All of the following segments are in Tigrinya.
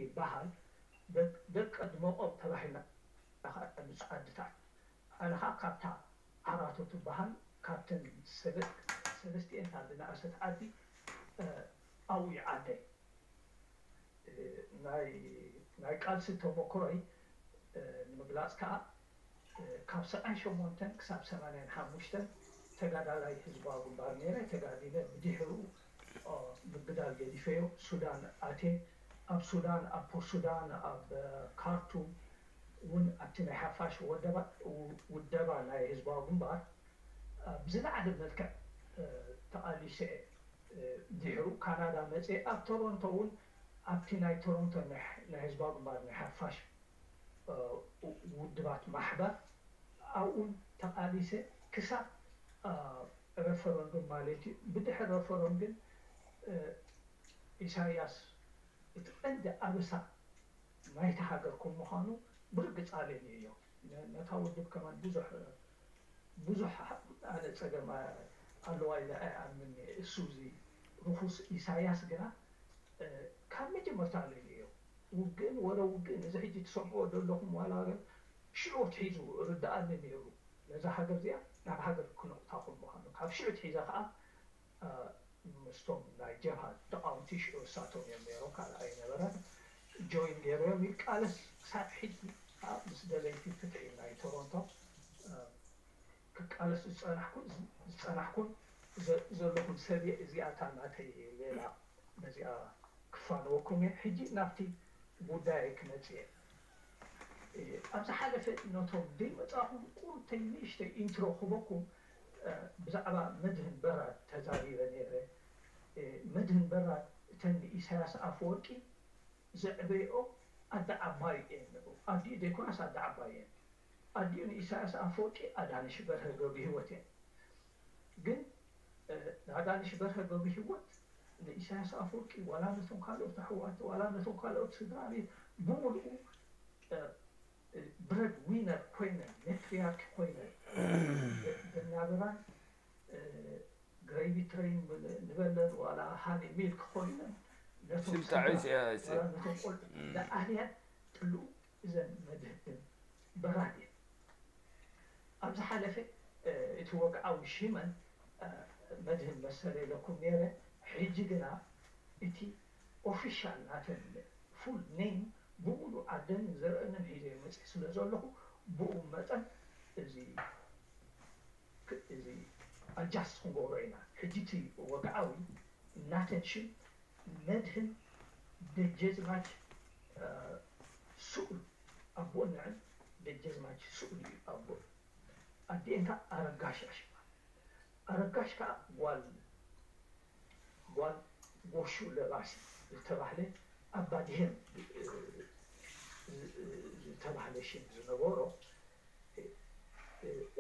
ይበሃል። ደቀ ድመቆም ተባሂልና ንፁ ዓድታት። ኣነ ከዓ ካብታ ዓራቶ ትበሃል ካብተን ሰለስቲኤን ካብ ዝነኣሰት ዓዲ ኣብኡ ይዓደይ። ናይ ቃልሲ ተሞክሮይ ንምግላፅ ከዓ ካብ ሰብዓን ሸሞንተን ክሳብ ሰማንያን ሓሙሽተን ተጋዳላይ ህዝባዊ ግንባር ነይረ። ተጋዲለ ብድሕሩ ምግዳል ገዲፈዮ ሱዳን ኣትየ። ኣብ ሱዳን ኣብ ፖርት ሱዳን ኣብ ካርቱም እውን ኣብቲ ናይ ሓፋሽ ውደባ ናይ ህዝባዊ ግንባር ብዝለዓለ መልክዕ ተቓሊሰ። ድሕሩ ካናዳ መፅየ ኣብ ቶሮንቶ እውን ኣብቲ ናይ ቶሮንቶ ናይ ህዝባዊ ግንባር ናይ ሓፋሽ ውድባት ማሕበር ኣብኡን ተቓሊሰ ክሳብ ረፈረንዱም ማለት እዩ። ብድሕሪ ረፈረንዱም ኢሳያስ እቲ ቀንዲ ኣበሳ ናይታ ሃገር ከም ምዃኑ ብርግፅ ኣለኒ እዮ። ነታ ውድብ ከማን ብዙሕ ብዙሕ ኣነ ፀገም ኣለዋ ኢለ ኣይኣምን። እሱ እዚ ርኹስ ኢሳያስ ግና ካብ መጀመርታ ኣለኒ እዮ። ውግእን ወረ ውግእን እዚ ሕጂ ትሰምዕዎ ዘለኹም ዋላ ሽዑ ኣትሒዙ ርድኣኒ ነይሩ። ነዛ ሃገር እዚኣ ናብ ሃገር ክነቑታ ከም ምዃኑ ካብ ሽዑ ኣትሒዘ ከዓ ምስቶም ናይ ጀብሃ ተቓወምቲ ሽዑ እሳቶም እዮም ነይሮም ካልእ ኣይነበረን። ጆይን ገይሮም ይቃለስ ክሳብ ሕጂ ከዓ ምስ ደለይቲ ፍትሒ ናይ ቶሮንቶ ክቃለስ ዝፀናሕኩን ዝፀናሕኩን ዘለኹን ሰብ እየ። እዚኣ እታ ናተይ ሌላ ነዚኣ ክፋነወኩም እየ። ሕጂ ናብቲ ጉዳይ ክመፅእ እየ። ኣብ ዝሓለፈ ነቶም ደይመፃኹም ቁሩብተይ ንእሽተይ ኢንትሮ ክበኩም ብዛዕባ መድህን በራድ ተዛሪበ ነይረ። መድህን በራድ እተን ንኢሳያስ ኣፈወርቂ ዘዕበይኦ ኣደ ዓባይ እየን። ኣዲኡ ዘይኮናስ ኣደ ዓባይ እየን። ኣዲኡ ንኢሳያስ ኣፈወርቂ ኣዳነሽ በርሀ ገብረሂወት እየን። ግን ኣዳነሽ በርሀ ገብረሂወት ንኢሳያስ ኣፈወርቂ ዋላ ነቶም ካልኦት ኣሕዋት ዋላ ነቶም ካልኦት ስድራ ቤት ብምልኡ ብረድ ዊነር ኮይነን ሜትሪያርኪ ኮይነን ዝናብራን ግሬቪ ትሬን ንበለን ዋላ ሃኒ ሚልክ ኮይነን ነቶም ቆልዑ ዝኣልያን ጥልኡ እዘን መድህን በራድ እየን። ኣብ ዝሓለፈ እቲ ወግዓዊ ሽመን መድህን መሰለ ኢለኩም ነይረ። ሕጂ ግና እቲ ኦፊሻል ናተን ፉል ኔም ብምሉእ ዓደንን ዘርእንን ሒዘ መፅእ ስለ ዘለኹ ብኡ መጠን እዚ እዚ ኣጃስት ክንገብሮ ኢና። ሕጂ እቲ ወግዓዊ ናተን ሽም መድህን ደጀዝማች ስኡል ኣቦን ንዕን ደጀዝማች ስኡል እዩ ኣቦን። ኣዲኤን ከዓ ኣረጋሽ ኣሽማ። ኣረጋሽ ከዓ ጓል ጓል ጎሹ ለባሲ ዝተባህለ ኣባዲሄም ዝተባህለ ሽም ዝነበሮ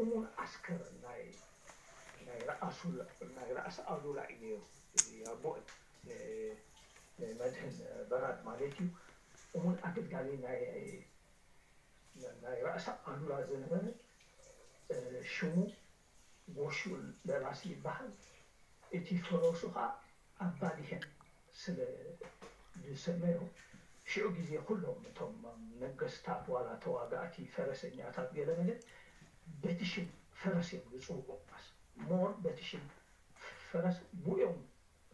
እሙን ዓስከር ናይ ናይ ራእሲ ኣሉላ እዩ ነይሩ። እዚ ኣቦ መድህን በራድ ማለት እዩ። እሙን ኣገልጋሊ ናይ ናይ ራእሲ ኣሉላ ዝነበረ ሽሙ ጎሹ ለባሲ ይበሃል። እቲ ፈረሱ ከዓ ኣባዲሄን ስለ ዝሰመዮ ሽዑ ግዜ ኩሎም እቶም ነገስታት ዋላ ተዋጋእቲ ፈረሰኛታት ገለመለ በቲ ሽም ፈረስ እዮም ዝፅውዑ። ሞር በቲ ሽም ፈረስ ብኡ እዮም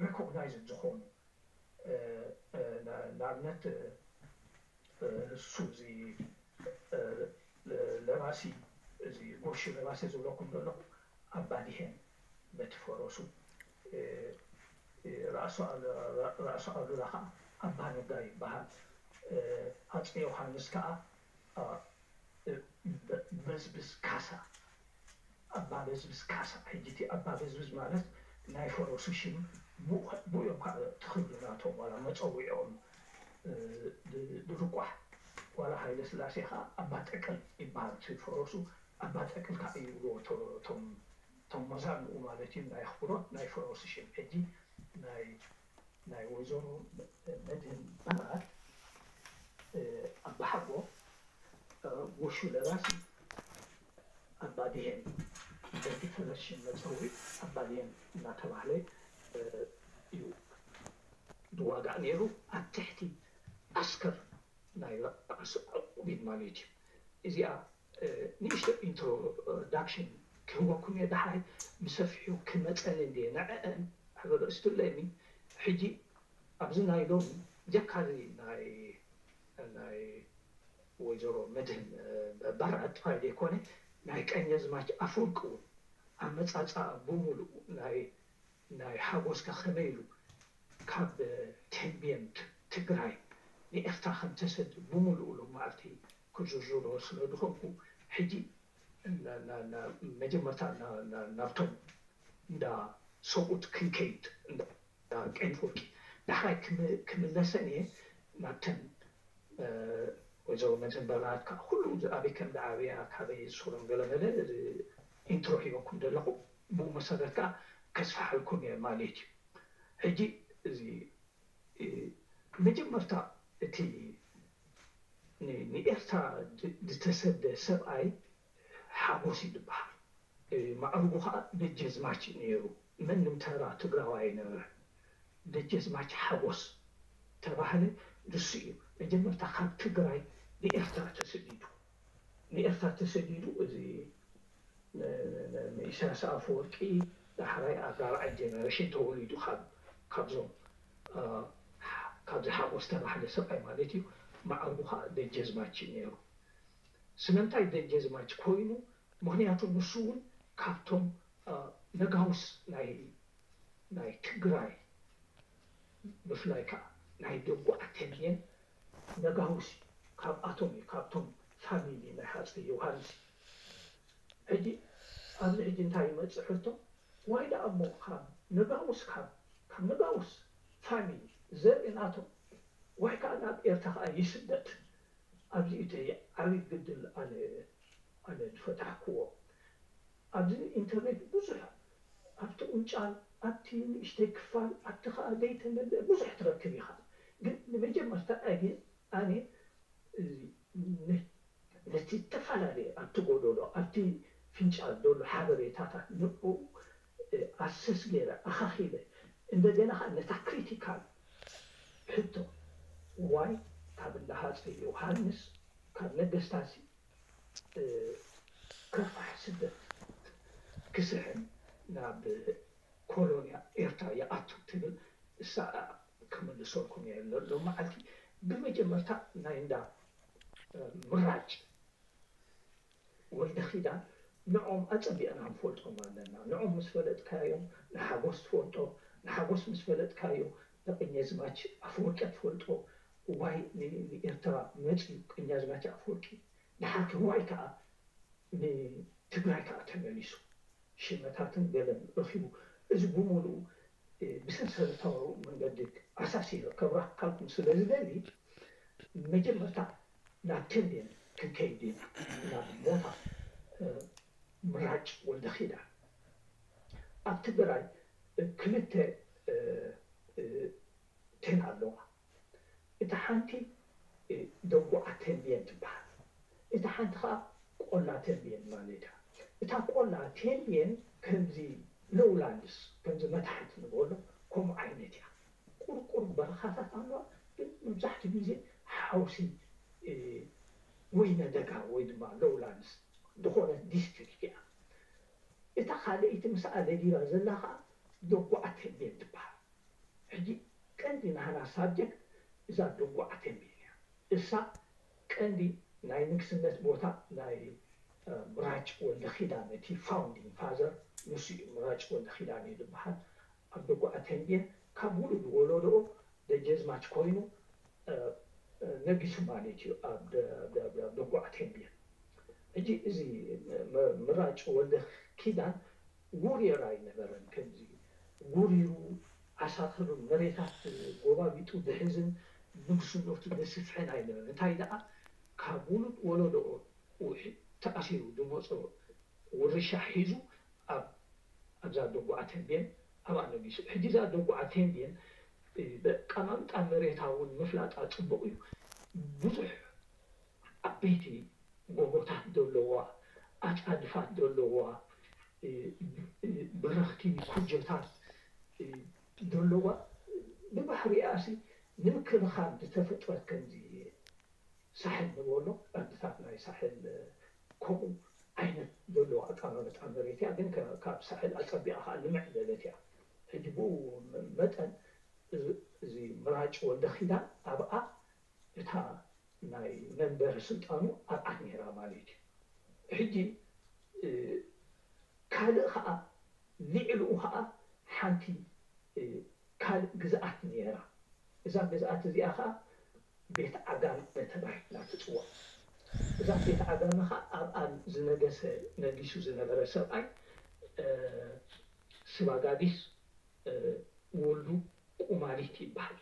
ሪኮግናይዝድ ዝኾኑ። ንኣብነት እሱ እዚ ለባሲ እዚ ጎሹ ለባሲ ዝብለኩም ዘለኹ ኣባዲሄን በቲ ፈረሱ ራእሲ ኣሉላ ከዓ ኣባ ነጋ ይበሃል። ኣፀ ዮሃንስ ከዓ በዝብዝ ካሳ ኣባ በዝብዝ ካሳ። ሕጂ እቲ ኣባ በዝብዝ ማለት ናይ ፈረሱ ሽም ብኡ እዮም ከዓ ትኽብሉ ናቶም ዋላ መፀውዒኦም ድርቋሕ ዋላ ሃይለ ስላሴ ከዓ ኣባ ጠቅል ይበሃል እቲ ፈረሱ ኣባ ጠቅል ከዓ ይብልዎ እቶም መዛንኡ ማለት እዩ ናይ ኣኽብሮት ናይ ፈረሱ ሽም። ሕጂ ናይ ናይ ወይዘሮ መድህን በራድ ኣባሓጎ ጎሹ ለባሲ ኣባዲሄን በቲ ፈረስ ሽም መፀውዒ ኣባዲሄን እናተባህለ እዩ ዝዋጋእ ነይሩ። ኣብ ትሕቲ ዓስከር ናይ ራእሲ ዕቁቢድ ማለት እዩ። እዚኣ ንእሽቶ ኢንትሮዳክሽን ክህበኩም እየ። ዳሕራይ ብሰፊሑ ክመፀኒ እንድየ ንዐአን ሕበረስቱለኒ። ሕጂ ኣብዚ ናይ ሎሚ ጀካዚ ናይ ናይ ወይዘሮ መድህን በራድ ጥራይ ዘይኮነ ናይ ቀኘዝማች ኣፈወርቂ እውን ኣመፃፅኣ ብምሉእ ናይ ናይ ሓጎስካ ከመይ ኢሉ ካብ ቴምቤን ትግራይ ንኤርትራ ከም ተሰድ ብምሉእ ሎም መዓልቲ ክዝርዝሮ ስለ ዝኾንኩ ሕጂ መጀመርታ ናብቶም እንዳ ሰብኡት ክንከይድ ቀይት ወርቂ ዳሕራይ ክምለሰን እየ ናብተን ወይዘሮ መድህን በራድ ከዓ ኩሉ ኣበይ ከም ዝዓበያ ካበይ ዝስሮም ገለመለ ኢንትሮ ሂበኩም ዘለኹ ብኡ መሰረት ከዓ ከስፋሓልኩም እየ ማለት እዩ። ሕጂ እዚ መጀመርታ እቲ ንኤርትራ ዝተሰደ ሰብኣይ ሓጎስ እዩ ዝበሃል። ማዕርጉ ከዓ ደጀዝማች እዩ ነይሩ። መንም ተራ ትግራዋይ ኣይነበረን። ደጀዝማች ሓጎስ ተባህለ። ንሱ እዩ መጀመርታ ካብ ትግራይ ንኤርትራ ተሰዲዱ። ንኤርትራ ተሰዲዱ እዚ ንኢሳያስ ኣፈወርቂ ዳሕራይ ኣብ ራብዓይ ጀነሬሽን ተወሊዱ ካብዞም ካብዚ ሓጎስ ተባህለ ሰብኣይ ማለት እዩ። ማዕርጉ ከዓ ደጀዝማች እዩ ነይሩ። ስለምንታይ ደጀዝማች ኮይኑ? ምክንያቱ ንሱ እውን ካብቶም ነጋውስ ናይ ናይ ትግራይ ብፍላይ ከዓ ናይ ደጉዓ ተንቤን ነጋውስ እዩ። ካብኣቶም እዩ፣ ካብቶም ፋሚሊ ናይ ሃፀይ ዮሃንስ እዩ። ሕጂ ኣብዚ ሕጂ እንታይ ይመፅእ ሕቶ? ዋይ ደኣ እሞ ካብ ነጋውስ ካብ ካብ ነጋውስ ፋሚሊ ዘርኢ ናቶም ዋይ ከዓ ናብ ኤርትራ ከዓ ይስደድ። ኣብዚ እዩ ዓብዪ ግድል ኣነ ኣነ ዝፈታሕክዎ። ኣብዚ ኢንተርኔት ብዙሕ ኣብቲ ቁንጫል ኣብቲ ንእሽተይ ክፋል ኣብቲ ከዓ ዘይተመልአ ብዙሕ ትረክብ ኢኻ። ግን ንመጀመርታ ኣየ ኣነ ነቲ ዝተፈላለየ ኣብቲ ጎደሎ ኣብቲ ፍንጫል ዘሎ ሓበሬታታት ንኡ ኣሰስ ገይረ ኣኻኺበ እንደገና ከዓ ነታ ክሪቲካል ሕቶ ዋይ ካብ እንዳ ሃፀይ ዮሃንስ ካብ ነገስታሲ ከፋሕ ስደት ክስሕን ናብ ኮሎንያ ኤርትራ ይኣቱ ትብል እሳ ክምልሰልኩም እየ ሎም መዓልቲ ብመጀመርታ ናይ እንዳ ምራጭ ወልደ ኪዳን ንዖም ኣጸቢቕና ንፈልጦም ኣለና። ንዖም ምስ ፈለጥካዮም ንሓጎስ ትፈልጦ፣ ንሓጎስ ምስ ፈለጥካዮ ንቀኛዝማች ኣፈወርቂ ትፈልጦ። ዋይ ንኤርትራ መጺኡ ቀኛዝማች ኣፈወርቂ፣ ድሓር ዋይ ከኣ ንትግራይ ከኣ ተመሊሱ ሽመታትን ገለን ረኺቡ። እዚ ብምሉኡ ብሰንሰለታዊ መንገዲ ኣሳሲረ ከብራሃልኩም ስለ ዝደሊ መጀመርታ ናብ ተንቤን ክንከይድ ኢና ናብ ቦታ ምራጭ ወልደ ኪዳን ኣብ ትግራይ ክልተ ቴን ኣለዋ። እታ ሓንቲ ደጉዓ ተንቤን ትበሃል። እታ ሓንቲ ከዓ ቆላ ተንቤን ማለት እያ። እታ ቆላ ተንቤን ከምዚ ሎውላንድስ ከምዚ መታሕት ንበሎ ከምኡ ዓይነት እያ። ቁርቁር በረኻታት ኣለዋ፣ ግን መብዛሕትኡ ግዜ ሓውሲ ወይነ ደጋ ወይ ድማ ሎውላንድስ ዝኾነት ዲስትሪክት እያ። እታ ካልኣይቲ ምስኣ ነዲራ ዘላ ከዓ ደጉዓ ተንቤን ትበሃል። ሕጂ ቀንዲ ናህና ሳብጀክት እዛ ደጉዓ ተንቤን እያ። እሳ ቀንዲ ናይ ንግስነት ቦታ ናይ ምራጭ ወልደ ኪዳን እቲ ፋውንዲንግ ፋዘር ንሱ እዩ። ምራጭ ወልደ ኪዳን እዩ ዝበሃል። ኣብ ደጉዓ ተንቤን ካብ ውሉድ ወለዶኡ ደጀዝማች ኮይኑ ነጊሱ ማለት እዩ ኣብ ደጉዓ ተንቤን። ሕጂ እዚ ምራጭ ወልደ ኪዳን ውርየር ኣይነበረን። ከምዚ ውሪሩ ዓሳክሩ መሬታት ጎባቢጡ ዝሕዝን ንግስነቱ ዝስፍሕን ኣይነበረን። እንታይ ደኣ ካብ ውሉድ ወለዶኡ ተኣሲሩ ዝመፆ ውርሻ ሒዙ ኣብ ኣብዛ ደጉዓ ተንቤን ኣብኣ ነጊሱ። ሕጂ እዛ ደጉዓ ተንቤን ኣቀማምጣ መሬታ እውን ምፍላጣ ፅቡቕ እዩ። ብዙሕ ዓበይቲ ጎቦታት ዘለዋ፣ ኣፃድፋት ዘለዋ፣ በረኽቲ ኩጀታት ዘለዋ ብባህሪኣሲ ንምክልኻል ዝተፈጥረት ከምዚ ሳሕል ንበሎ፣ ዓድታት ናይ ሳሕል ከምኡ ዓይነት ዘለዎ ኣቀማምጣ መሬት እያ። ግን ካብ ሳሕል ኣጸቢቓ ከዓ ልምዕ ዝበለት እያ። ሕጂ ብኡ መጠን እዚ ምራጭ ወልደ ኪዳን ኣብኣ እታ ናይ መንበሪ ስልጣኑ ኣብኣ ነይራ ማለት እዩ። ሕጂ ካልእ ከዓ ልዕልኡ ከዓ ሓንቲ ካልእ ግዝኣት ነይራ። እዛ ግዝኣት እዚኣ ከዓ ቤት ዓጋመ ተባሂላ ትፅዋዕ። እዛ ቤት ዓጋመ ከዓ ኣብኣ ዝነገሰ ነጊሱ ዝነበረ ሰብኣይ ስባጋዲስ ወልዱ ቁማሊት ይበሃል።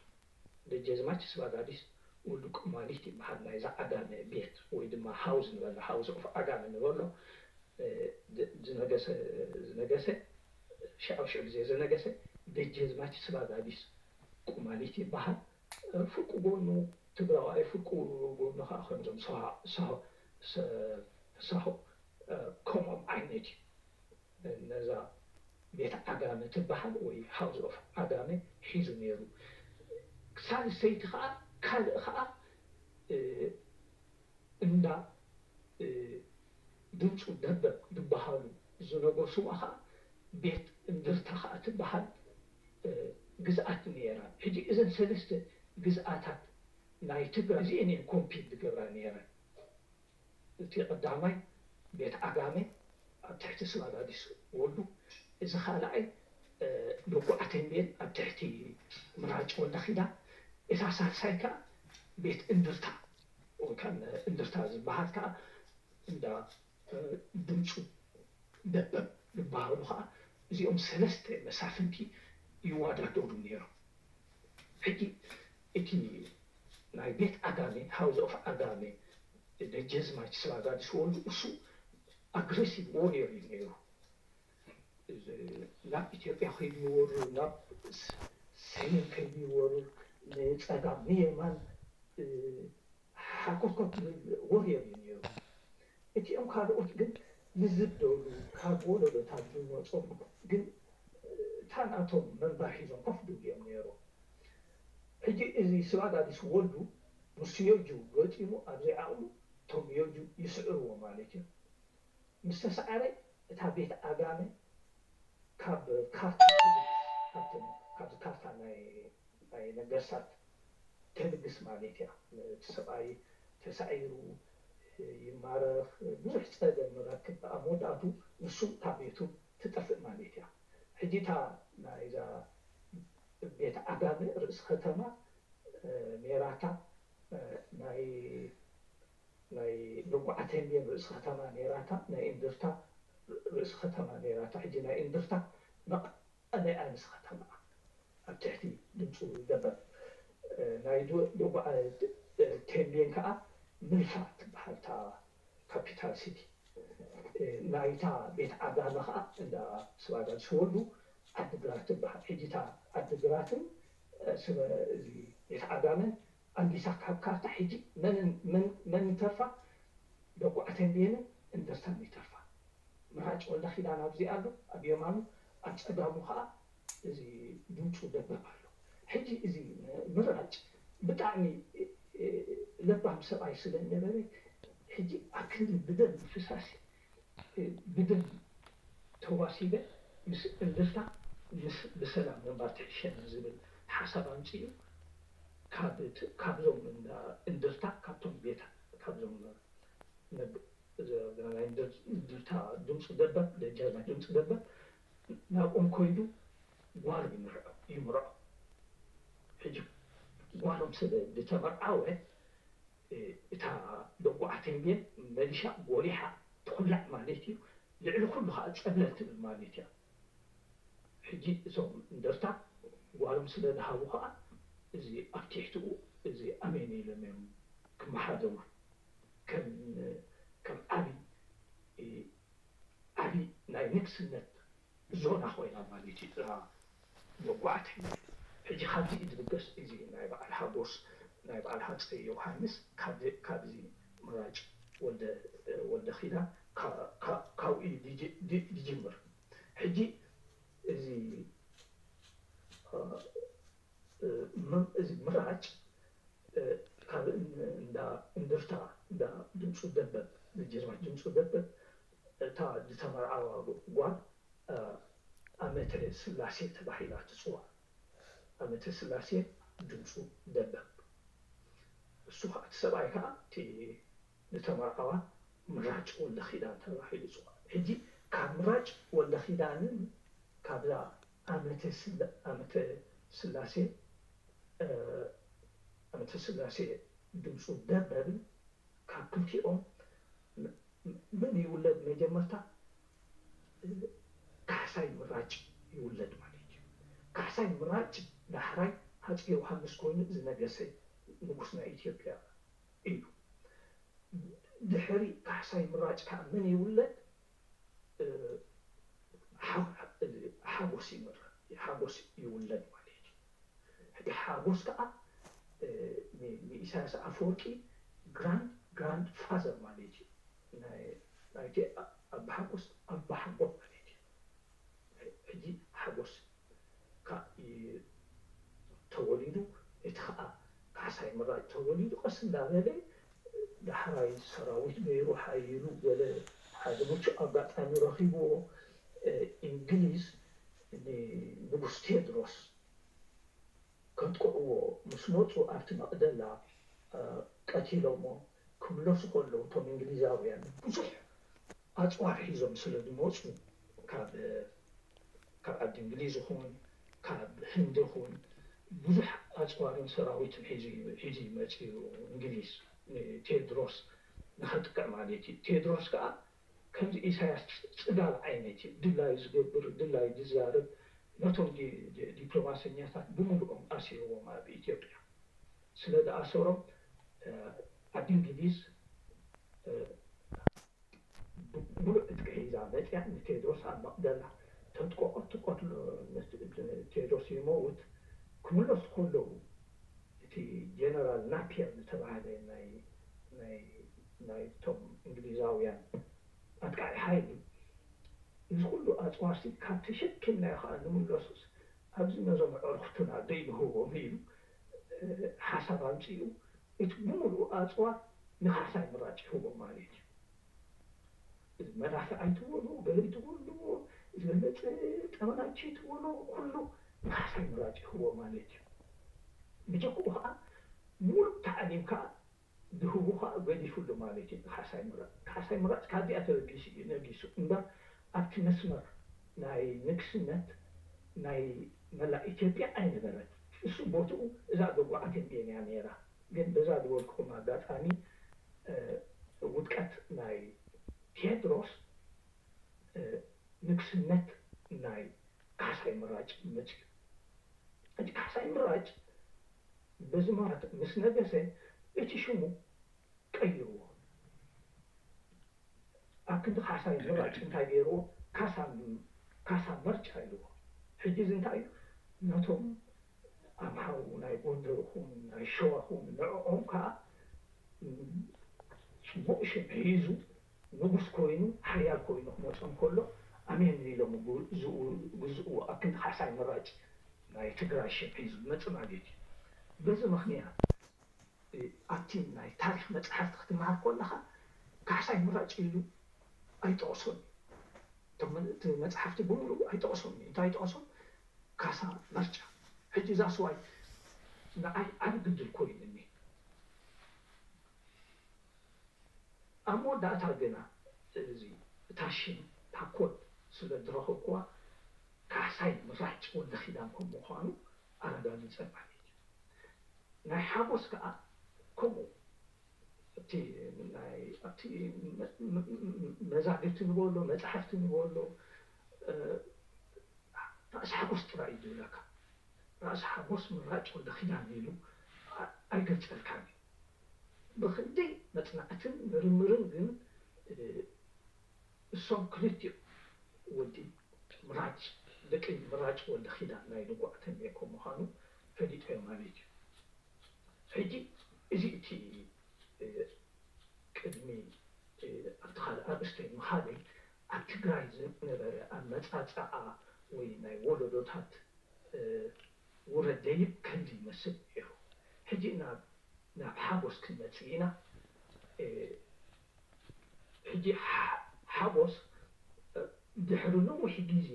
ደጀዝማች ስባጋዲስ ወልዱ ቁማሊት ይበሃል። ናይዛ ዓጋመ ቤት ወይ ድማ ሃውዝ ንበሎ፣ ሃውዝ ኦፍ ዓጋመ ንበሎ ዝነገሰ ዝነገሰ ሽዓብ ሽዑ ግዜ ዝነገሰ ደጀዝማች ስባጋዲስ ቁማሊት ይበሃል። ፍርቂ ጎኑ ትግራዋይ፣ ፍርቂ ጎኑ ከዓ ከምዞም ሳሆ ከምኦም ዓይነት እዩ። ነዛ ቤት ዓጋመ ትበሃል ወይ ሃውዝ ኦፍ ዓጋመ ሒዙ ነይሩ። ሳልሰይቲ ከዓ ካልእ ከዓ እንዳ ድምፁ ደበብ ዝበሃሉ ዝነገስዋ ከዓ ቤት እንድርታ ከዓ ትበሃል ግዝኣት ነይራ። ሕጂ እዘን ሰለስተ ግዝኣታት ናይ ትግራይ እዚአን እየን ኮምፒት ዝገብራ ነይረን። እቲ ቀዳማይ ቤት ዓጋመ ኣብ ትሕቲ ስባጋዲስ ወልዱ፣ እዚ ካልኣይ ደጉዓ ተምቤን ኣብ ትሕቲ ምራጭ ወልደ ኪዳን፣ እታ ሳልሳይ ከዓ ቤት እንድርታ ወይ ከዓ እንድርታ ዝበሃል ከዓ እንዳ ድምፁ ደበብ ዝበሃሉ ከዓ እዚኦም ሰለስተ መሳፍንቲ ይወዳደሩ ነይሮም። ሕጂ እቲ ናይ ቤት ዓጋመ ሃውዝ ኦፍ ዓጋመ ደጀዝማች ስባጋዲስ ወልዱ እሱ ኣግሬሲቭ ዎሪየር እዩ ነይሩ። ናብ ኢትዮጵያ ከይዱ ይወርር፣ ናብ ሰሜን ከይዱ ይወርር፣ ንፀጋም ንየማን ሓኮትኮት ዝብል ዎሪየር እዩ ነይሩ። እቲኦም ካልኦት ግን ልዝብ ደብሉ ካብ ወለዶታት ዝመፁ ግን እታ ናቶም መንበር ሒዞም ኮፍ ድብሉ እዮም ነይሮም። ሕጂ እዚ ስባጋዲስ ወልዱ ምስ ዮጁ ገጢሙ ኣብ ዘይዓቕሉ እቶም ዮጁ ይስዕርዎ ማለት እዩ። ምስ ተሳዕረ እታ ቤት ዓጋመ ካብ ካርታ ካብዚ ካርታ ናይ ናይ ነገስታት ተልግስ ማለት እያ። እቲ ሰብኣይ ተሳዒሩ ይማረኽ፣ ብዙሕ ፀገም ንረክብ። ኣብ መወዳእቱ ንሱ ካብ ቤቱ ትጠፍእ ማለት እያ። ሕጂ እታ ናይዛ ቤት ዓጋመ ርእሲ ከተማ ሜራታ ናይ ናይ ደጉዓ ተምቤን ርእሲ ከተማ ኔራታ፣ ናይ እንድርታ ርእሲ ከተማ ኔራታ። ሕጂ ናይ እንድርታ መቐለ እያ ንስ ከተማ ኣብ ትሕቲ ድምፁ ደበብ። ናይ ደጉዓ ተምቤን ከዓ ምልፋ ትበሃል እታ ካፒታል ሲቲ። ናይታ ቤት ዓጋመ ከዓ እንዳ ስባጋድ ዝወልዱ ዓድግራት ትበሃል። ሕጂ እታ ዓድግራትን ቤት ዓጋመን ኣንዲሳ ካብ ካርታ ሕጂ መን ይተርፋ? ደጉዓ ተምቤንን እንደርታን ይተርፋ። ምራጭ ወልደ ኪዳን ኣብዚ ኣሎ ኣብ የማኑ፣ ኣብ ፀጋሙ ከዓ እዚ ድምፁ ደበብ ኣሎ። ሕጂ እዚ ምራጭ ብጣዕሚ ለባም ሰብኣይ ስለ ነበረ ሕጂ ኣብ ክንዲ ብደም ምፍሳስ ብደም ተዋሲበ ምስ እንድርታ ምስ ብሰላም ምንባር ትሕሸኒ ዝብል ሓሳብ ኣምፂኡ ካብዞም እንድርታ ካብቶም ቤታ ካብዞም ናይ እንድርታ ድምፂ ደበብ ደጃዝማች ድምፂ ደበብ ናብኦም ኮይዱ ጓል ይምርዖ ይምርዖ። ሕጂ ጓሎም ስለ ዝተመርዓወ እታ ደጉዓ ተምቤን መሊሻ ጎሊሓ ትኹላዕ ማለት እዩ። ልዕሊ ኩሉ ከዓ ፀብለል ትብል ማለት እያ። ሕጂ እዞም እንደርታ ጓሎም ስለ ዝሃቡ ከዓ እዚ ኣብ ትሕትኡ እዚ ኣሜን ኢሎም እዮም ክመሓደሩ ከም ዓብዪ ዓብዪ ናይ ንግስነት ዞና ኮይና ማለት እዩ እዛ መጓዕቲ። ሕጂ ካብዚ እዩ ዝብገስ እዚ ናይ በዓል ሓጎስ ናይ በዓል ሃፀይ ዮሃንስ ካብዚ ምራጭ ወልደ ኪዳን ካብኡ እዩ ዝጅምር። ሕጂ እዚ እዚ ምራጭ ካብ እንዳ እንድርታ እንዳ ድምፁ ደበብ፣ ደጃዝማች ድምፁ ደበብ፣ እታ ዝተመርዓዋ ጓል ኣመተ ስላሴ ተባሂላ ትፅዋዕ። ኣመተ ስላሴ ድምፁ ደበብ። እሱ ከዓ እቲ ሰብኣይ ከዓ እቲ ዝተመርዓዋ ምራጭ ወልደ ኪዳን ተባሂሉ ይፅዋዕ። ሕጂ ካብ ምራጭ ወልደ ኪዳንን ካብዛ ኣመተ ስላሴ ኣመተ ስላሴ ድምፁ ደበብን ካብ ክልቲኦም ምን ይውለድ? መጀመርታ ካሕሳይ ምራጭ ይውለድ ማለት እዩ። ካሕሳይ ምራጭ ዳሕራይ ሃፀይ ዮሃንስ ኮይኑ ዝነገሰ ንጉስ ናይ ኢትዮጵያ እዩ። ድሕሪ ካሕሳይ ምራጭ ከዓ ምን ይውለድ? ሓጎስ ይምረ ሓጎስ ይውለድ ማለት እዩ። ሕጂ ሓጎስ ከዓ ንኢሳያስ ኣፈወርቂ ግራንድ ግራንድ ፋዘር ማለት እዩ። ናይቲ ኣባሓጎስ ኣባሓጎ ማለት እዩ። ሕጂ ሓጎስ ተወሊዱ፣ እቲ ከዓ ካሕሳይ ምራጭ ተወሊዱ፣ ቀስ እንዳበለ ዳሕራይ ሰራዊት ገይሩ ሓይሉ ገለ ሓደ ምቹእ ኣጋጣሚ ረኺብዎ። እንግሊዝ ንንጉስ ቴድሮስ ከጥቅዕዎ ምስ መፁ ኣብቲ መቕደላ ቀቲሎሞ ክምለሱ ከለዉ እቶም እንግሊዛውያን ብዙሕ ኣፅዋር ሒዞም ስለ ዝመፁ ካብ ካብ ዓዲ እንግሊዝ ይኹን ካብ ህንዲ ይኹን ብዙሕ ኣፅዋርን ሰራዊትን ሒዙ ይመፅእ እዩ። እንግሊዝ ንቴድሮስ ንኸጥቅዕ ማለት እዩ። ቴድሮስ ከዓ ከምዚ ኢሳያስ ፅጋብ ዓይነት እዩ። ድላዩ ዝገብር፣ ድላዩ ዝዛረብ፣ ነቶም ዲፕሎማሰኛታት ብምሉኦም ኣሲርዎም ኣብ ኢትዮጵያ። ስለ ዝኣሰሮም ዓዲ እንግሊዝ ብሙሉእ ዕጥቂ ሒዛ መፅያ ንቴድሮስ ኣብ መቕደላ ተጥቆቖት ትቆትሎ። ቴድሮስ ይመውት ክምለሱ ከለዉ እቲ ጀነራል ናፒየር ዝተባህለ ናይቶም እንግሊዛውያን ኣጥቃዒ ሓይሊ እዚ ኩሉ ኣፅዋርሲ ካብ ተሸኪምናዮ ከዓ ንምለሱስ ኣብዚ ነዞም ኣዕሩኽትና ዘይንህቦም ኢሉ ሓሳብ ኣምፂኡ እቲ ብምሉኡ ኣፅዋር ንካሕሳይ ምራጭ ይህቦ ማለት እዩ። መዳፍዕ ኣይትበሉ፣ ገለ ኣይትበሉ፣ ዝበለፀ ጠመናቸ ኣይትበሉ፣ ኩሉ ንካሕሳይ ምራጭ ይህቦ ማለት እዩ። ብጀክኡ ከዓ ሙሉእ ታዕሊም ከዓ ዝህቡ ከዓ ገዲፉሉ ማለት እዩ። ንካሕሳይ ምራጭ ካሕሳይ ምራጭ ካብዚኣ ተበጊሱ እዩ ነጊሱ እምበር ኣብቲ መስመር ናይ ንግስነት ናይ መላእ ኢትዮጵያ ኣይነበረን። እሱ ቦትኡ እዛ ደጉዓ ተንቤን እያ ነይራ። ግን በዛ ዝበልኩኹም ኣጋጣሚ ውድቀት ናይ ቴድሮስ ንግስነት ናይ ካሕሳይ ምራጭ መፅዩ። እቲ ካሕሳይ ምራጭ በዚ ማለት ምስ ነገሰ እቲ ሽሙ ቀይርዎ። ኣብ ክንዲ ካሕሳይ ምራጭ እንታይ ገይርዎ? ካሳ ካሳ መርጫ ኢልዎ። ሕጂ እዚ እንታይ እዩ? ነቶም ኣምሓሩ ናይ ጎንደርኹም ናይ ሸዋኹም ንዕኦም ከዓ ፅቡቕ ሽም ሒዙ ንጉስ ኮይኑ ሓያል ኮይኑ ክመፆም ከሎ ኣሜን ኢሎም ግዝእዎ። ኣብ ክንዲ ካሕሳይ ምራጭ ናይ ትግራይ ሽም ሒዙ ዝመፅእ ማለት እዩ። በዚ ምኽንያት ኣብቲ ናይ ታሪክ መፅሓፍቲ ክትምሃር ከለካ ካሕሳይ ምራጭ ኢሉ ኣይጠቕሶን። እቶም እቲ መፅሓፍቲ ብምሉኡ ኣይጠቕሶን። እንታይ ይጠቕሶም? ካሳ መርጫ። ሕጂ እዛ ስዋይ ንዓይ ዓብ ግድል ኮይኑኒ። ኣብ መወዳእታ ግና እዚ እታ ሽም እታ ኮድ ስለ ዝረኸብኩዋ ካሕሳይ ምራጭ ወልደ ኪዳን ከም ምዃኑ ኣረጋጊፀ ማለት እዩ። ናይ ሓጎስ ከዓ ከምኡ እቲ ናይ ኣብቲ መዛግብቲ ንበሎ መፅሓፍቲ ንበሎ ራእሲ ሓጎስ ጥራይ እዩ ዝብለካ። ራእሲ ሓጎስ ምራጭ ወልደ ኪዳን ኢሉ ኣይገልፀልካን እዩ። ብክንደይ መፅናዕትን ምርምርን ግን እሶም ክልቲኡ ወዲ ምራጭ ደቂ ምራጭ ወልደ ኪዳን ናይ ንጉዕ ተንቤን ከም ምዃኑ ፈሊጦ እዮም ማለት እዩ። ሕጂ እዚ እቲ ቅድሚ ኣብቲ ካልእ ኣርእስተይ ምኻደይ ኣብ ትግራይ ዝነበረ ኣመፃፅኣ ወይ ናይ ወለዶታት ውረድ ደይብ ከምዚ ይመስል ነይሩ። ሕጂ ናብ ናብ ሓጎስ ክንመጽእ ኢና። ሕጂ ሓጎስ ድሕሪ ነዊሕ ግዜ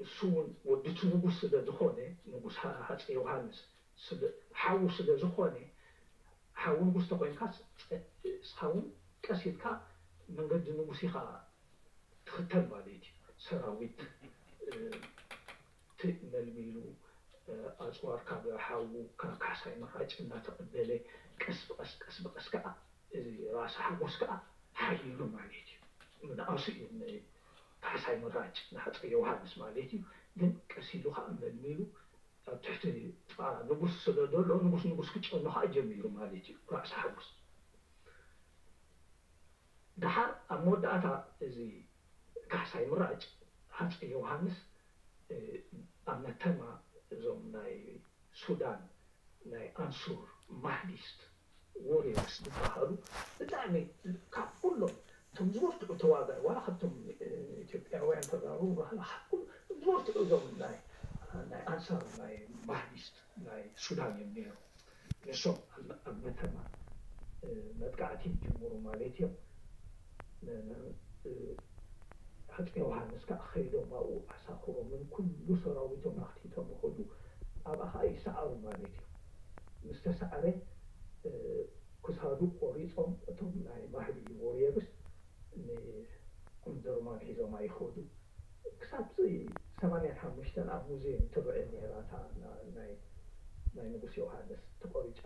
እሱ እውን ወዲ እቲ ንጉስ ስለ ዝኾነ ንጉስ ሃፀ ዮሃንስ ሓዉ ስለ ዝኾነ ሓዉ ንጉስ ተኮይንካ እስኻ እውን ቀስ ኢልካ መንገዲ ንጉስ ኢኻ ትኽተል ማለት እዩ። ሰራዊት መልሚሉ ኣፅዋር ካብ ሓዉ ካብ ካሕሳይ ምራጭ እናተቐበለ ቀስ ብቐስ ቀስ ብቐስ ከዓ እዚ ራእሲ ሓጎስ ከዓ ሓይሉ ማለት እዩ። ምንኣሱ እዩ ካሕሳይ ምራጭ ንሃፀይ ዮሃንስ ማለት እዩ። ግን ቀስ ኢሉ ከዓ መልሚሉ ኣብ ትሕቲ ጥቓ ንጉስ ስለ ዘሎ ንጉስ ንጉስ ክጨኑ ከዓ ጀሚሩ ማለት እዩ ራእሲ ሓጎስ። ደሓር ኣብ መወዳእታ እዚ ካሕሳይ ምራጭ ሃፀይ ዮሃንስ ኣብ መተማ እዞም ናይ ሱዳን ናይ ኣንሱር ማህዲስት ዎሪየርስ ዝበሃሉ ብጣዕሚ ካብ ኩሎም እቶም ዝበርትዑ ተዋጋኢ ዋላ ካብቶም ኢትዮጵያውያን ተጋሩ ባህላ ካብ ኩሉ ዝበርትዑ እዞም ናይ ናይ ኣንሳር ናይ ማህዲስት ናይ ሱዳን እዮም ነይሮም። ንሶም ኣብ መተማ መጥቃዕቲ ይጅምሩ ማለት እዮም። ሃፀይ ዮሃንስ ከዓ ከይዶም ኣብኡ ኣሳኽሮምን ኩሉ ሰራዊቶም ኣኽቲቶም ይኸዱ። ኣብኣ ከዓ ይሰዓሩ ማለት እዩ። ምስ ተሳዕረ ክሳዱ ቆሪፆም እቶም ናይ ማህዲ ዎሪየርስ ንእምድርማን ሒዞማ ይኸዱ። ክሳብ ሰማንያን ሓሙሽተን ኣብ ሙዚየም ትረአ ነይራ እታ ናይ ናይ ንጉስ ዮሃንስ ተቆሪጫ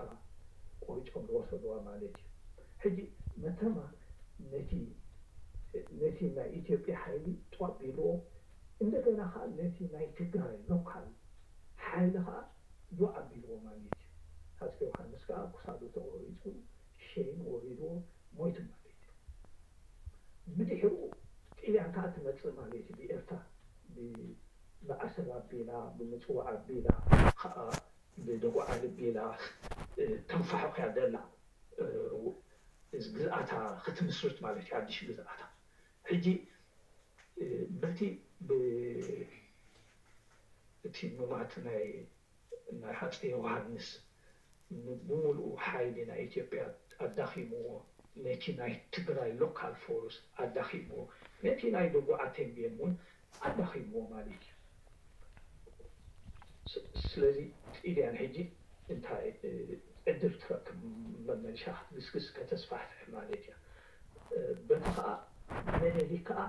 ቆሪጮም ዝወሰድዋ ማለት እዩ። ሕጂ መተማ ነቲ ነቲ ናይ ኢትዮጵያ ሓይሊ ጦር ቢልዎ እንደገና ከዓ ነቲ ናይ ትግራይ ሎካል ሓይሊ ከዓ ዶ ኣቢልዎ ማለት እዩ። ሃፀ ዮሃንስ ከዓ ክሳዱ ተቆሪፁ ሸይን ወሪድዎ ሞይቱ ማለት እዩ። ብድሕሩ ጥልያን ከዓ ትመፅእ ማለት እዩ። ብኤርትራ ብዓሰብ ኣቢላ ብምፅዋዕ ኣቢላ ከዓ ብደጉዓ ኣቢላ ተንፋሕኽያ ደላ ግዝኣታ ክትምስርት ማለት እዩ። ሓድሽ ግዝኣታ ሕጂ በቲ እቲ ምማት ናይ ናይ ሃፀይ ዮሃንስ ብምሉኡ ሓይሊ ናይ ኢትዮጵያ ኣዳኺምዎ፣ ነቲ ናይ ትግራይ ሎካል ፎርስ ኣዳኺምዎ፣ ነቲ ናይ ደጉዓ ተንቤን እውን ኣዳኺምዎ ማለት እዩ። ስለዚ ጥልያን ሕጂ እንታይ ዕድል ትረክብ መመልሻ ክትግስግስ ከተስፋሕፍሕ ማለት እያ። በቲ ከዓ መለሊ ከዓ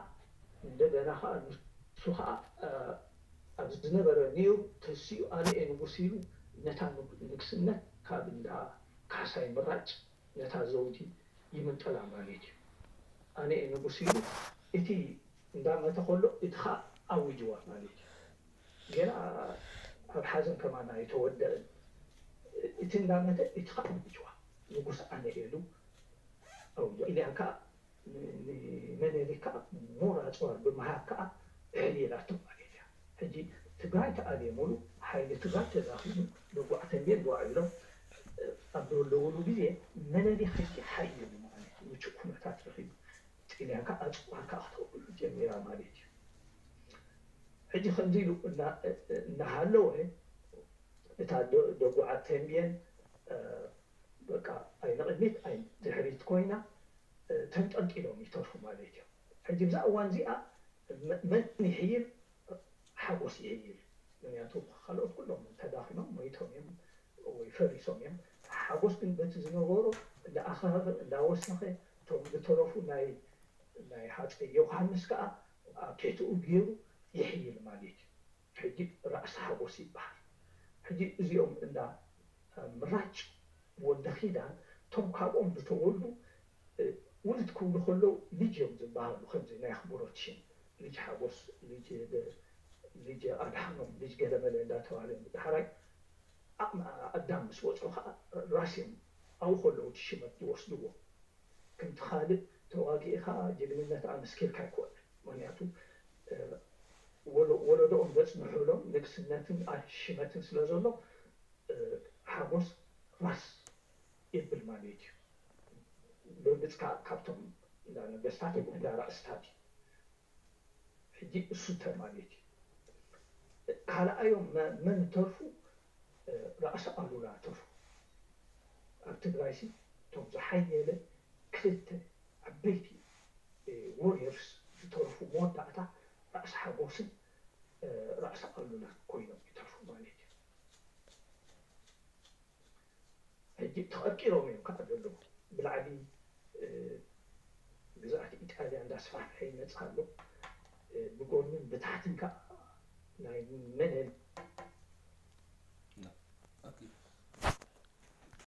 እንደገና ከዓ ንሱ ከዓ ኣብ ዝነበረ ኔሩ ተሲኡ ኣነ እየ ንጉስ ኢሉ ነታ ንግስነት ካብ እንዳ ካሕሳይ ምራጭ ነታ ዘውዲ ይምንጠላ ማለት እዩ። ኣነ እየ ንጉስ ኢሉ እቲ እንዳመተ ከሎ እቲ ከዓ ኣዊጅዋ ማለት እዩ። ገና ኣብ ሓዘን ከማን ኣይተወደእን እቲ እንዳመተ እቲ ከዓ ኣዊጅዋ ንጉስ ኣነ እየ ኢሉ ኣውጆ ኢልያን ከዓ ንመነሊካ ሞራ ኣፅዋር ብምሃብ ከዓ ዕልላቶ ማለት እያ። ሕጂ ትግራይ ተኣልየ ሙሉ ሓይሊ ትግራይ ተዳኺሙ ደጉዓ ተንቤን ጓዕ ኢሎም ኣብ ዝወለውሉ ግዜ መነሊክ ሕጂ ሓይሉ ማለት እዩ ምቹእ ኩነታት ረኺቡ ጥልያን ከዓ ኣፅዋር ከዓ ክተውዕሉ ጀሚራ ማለት እዩ። ሕጂ ከምዚ ኢሉ እናሃለወ እታ ደጉዓ ተንቤን በቃ ኣይንቕድሚት ኣይንድሕሪት ኮይና ተንጠልጢሎም ይተርፉ ማለት እዮም። ሕጂ ብዛ እዋን እዚኣ መን ይሕይል? ሓጎስ ይሕይል። ምክንያቱ ካልኦት ኩሎም ተዳኺሞም ሞይቶም እዮም ወይ ፈሪሶም እዮም። ሓጎስ ግን በቲ ዝነበሮ እንዳኣኸኸ እንዳወሰኸ እቶም ዝተረፉ ናይ ናይ ሃፀይ ዮሃንስ ከዓ ኣብ ትሕትኡ ገይሩ ይሕይል ማለት እዩ። ሕጂ ራእሲ ሓጎስ ይበሃል። ሕጂ እዚኦም እንዳ ምራጭ ወልደ ኪዳን እቶም ካብኦም ዝተወልዱ ውሉድ ክብሉ ከለዉ ልጅ እዮም ዝበሃሉ። ከምዚ ናይ ኣኽብሮት ሽም ልጅ ሓጎስ፣ ልጅ ኣድሓኖም፣ ልጅ ገለመለ እንዳተባሃለ እዮም። ዳሕራይ ዓቕሚ ኣዳም ምስ በፅሑ ከዓ ራስ እዮም ኣብኡ ከለዉ እቲ ሽመት ዝወስድዎ። ከምቲ ካልእ ተዋጊእኻ ጅግንነት ኣመስኪርካ ኣይኮነን። ምክንያቱ ወለዶኦም ዘፅንሑሎም ንግስነትን ሽመትን ስለ ዘሎ ሓጎስ ራስ የብል ማለት እዩ። ብርግፅካ ካብቶም እንዳ ነገስታት እንዳ ራእስታት እዩ። ሕጂ እሱ እንተ ማለት እዩ። ካልኣዮም መን ተርፉ? ራእሲ ኣሉላ ተርፉ። ኣብ ትግራይ ሲ እቶም ዝሓየለ ክልተ ዓበይቲ ዎሪየርስ ዝተረፉ መወዳእታ ራእሲ ሓጎስን ራእሲ ኣሉላ ኮይኖም ይተርፉ ማለት እዩ። ሕጂ ተቐርቂሮም እዮም ከዓ ዘለዉ። ብላዕሊ ግዛኣት ኢጣልያ እንዳስፋሕፈሐ ይመፅእ ኣሎ። ብጎንን ብታሕትን ከዓ ናይ መነን